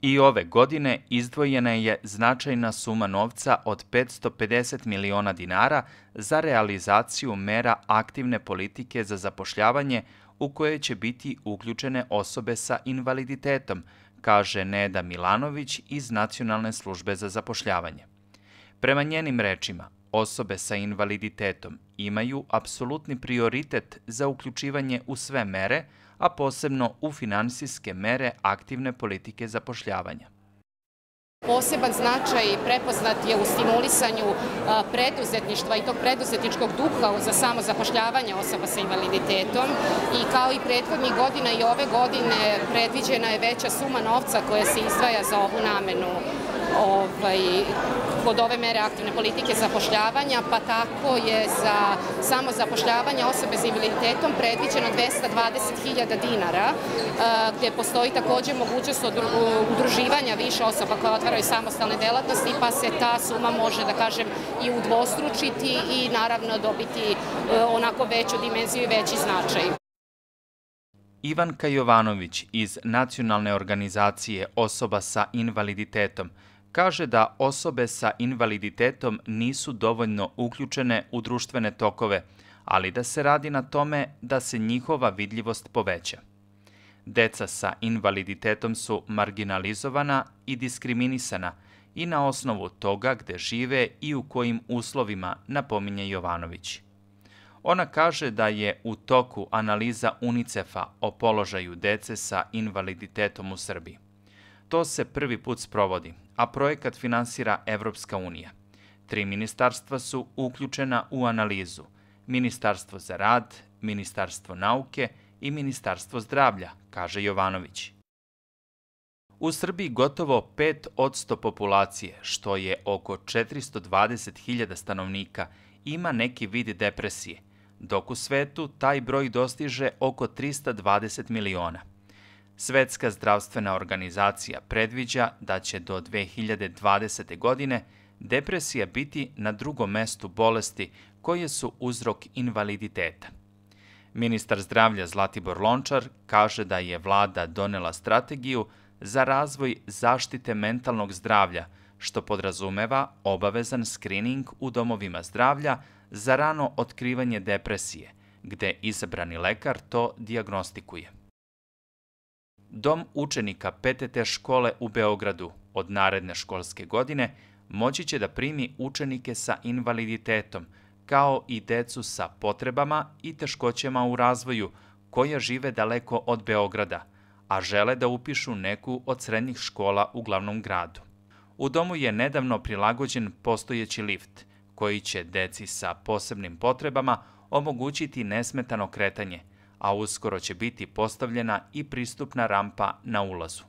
I ove godine izdvojena je značajna suma novca od 550 miliona dinara za realizaciju mera aktivne politike za zapošljavanje u koje će biti uključene osobe sa invaliditetom, kaže Neda Milanović iz Nacionalne službe za zapošljavanje. Prema njenim rečima, osobe sa invaliditetom imaju apsolutni prioritet za uključivanje u sve mere, a posebno u finansijske mere aktivne politike zapošljavanja. Poseban značaj prepoznat je u stimulisanju preduzetništva i tog preduzetničkog duha za samozapošljavanje osoba sa invaliditetom i kao i prethodnih godina i ove godine predviđena je veća suma novca koja se izdvaja za ovu namenu kod ove mere aktivne politike zapošljavanja, pa tako je za samozapošljavanje osobe sa invaliditetom predviđeno 220.000 dinara, gde postoji takođe mogućnost udruživanja više osoba koje otvaraju samostalne delatnosti, pa se ta suma može, da kažem, i udvostručiti i naravno dobiti onako veću dimenziju i veći značaj. Ivanka Jovanović iz Nacionalne organizacije osoba sa invaliditetom kaže da osobe sa invaliditetom nisu dovoljno uključene u društvene tokove, ali da se radi na tome da se njihova vidljivost poveća. Deca sa invaliditetom su marginalizovana i diskriminisana i na osnovu toga gde žive i u kojim uslovima, napominje Jovanović. Ona kaže da je u toku analiza UNICEF-a o položaju dece sa invaliditetom u Srbiji. To se prvi put sprovodi, a projekat finansira Evropska unija. 3 ministarstva su uključena u analizu: Ministarstvo za rad, Ministarstvo nauke i Ministarstvo zdravlja, kaže Jovanović. U Srbiji gotovo 5% populacije, što je oko 420.000 stanovnika, ima neki vid depresije, dok u svetu taj broj dostiže oko 320 miliona. Svetska zdravstvena organizacija predviđa da će do 2020. godine depresija biti na drugom mestu bolesti koje su uzrok invaliditeta. Ministar zdravlja Zlatibor Lončar kaže da je vlada donela strategiju za razvoj zaštite mentalnog zdravlja, što podrazumeva obavezan skrining u domovima zdravlja za rano otkrivanje depresije, gde izabrani lekar to dijagnostikuje. Dom učenika PTT škole u Beogradu od naredne školske godine moći će da primi učenike sa invaliditetom, kao i decu sa potrebama i teškoćama u razvoju koja žive daleko od Beograda, a žele da upišu neku od srednjih škola u glavnom gradu. U domu je nedavno prilagođen postojeći lift, koji će deci sa posebnim potrebama omogućiti nesmetano kretanje, a uskoro će biti postavljena i pristupna rampa na ulazu.